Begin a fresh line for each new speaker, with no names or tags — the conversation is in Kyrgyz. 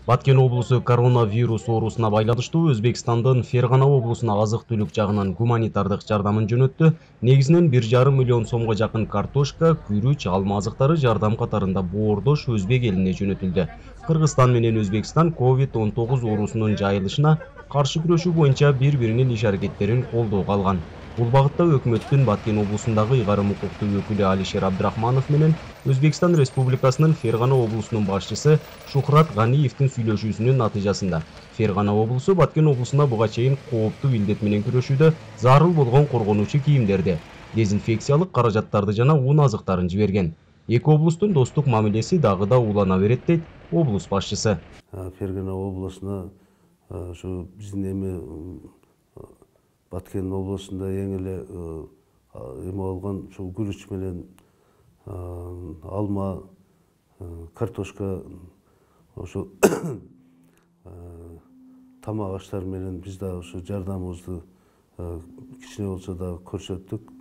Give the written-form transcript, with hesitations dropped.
Баткен облусу коронавирус оорусуна байланыштуу Өзбекстандын Фергана облусуна азык-түлүк жагынан гуманитардык жардамын жөнөттү. Негизинен 1,5 миллион сомго жакын картошка, күрүч, алма азыктары жардам катарында боордош өзбек элине жөнөтүлдү. Кыргызстан менен Өзбекстан COVID-19 оорусунун жайылышына каршы күрөшүү боюнча бири-биринин иш-аракеттерин колдоого алган. Бул багытта өкмөттүн Баткен облусундагы ыйгарым укуктуу өкүлү Алишер Абдрахманов менен Өзбекстан Республикасынын Фергана облусунун башчысы Шухрат Ганиевдин сүйлөшүүсүнүн натыйжасында Фергана облусу Баткен облусуна буга чейин кооптуу илдет менен күрөшүүдө зарыл болгон коргонуучу кийимдерди, дезинфекциялык каражаттарды жана ун азыктарын жиберген. Эки облустун достук мамилеси дагы да улана берет дейт облус башчысы.
Фергана облусуна ушу биздин Баткен облусунда эң эле болгон ушу күрүч менен алма, картошка, ошо тамак аштар менен биз да ушу жардамыбызды кичине болсо да көрсөттүк.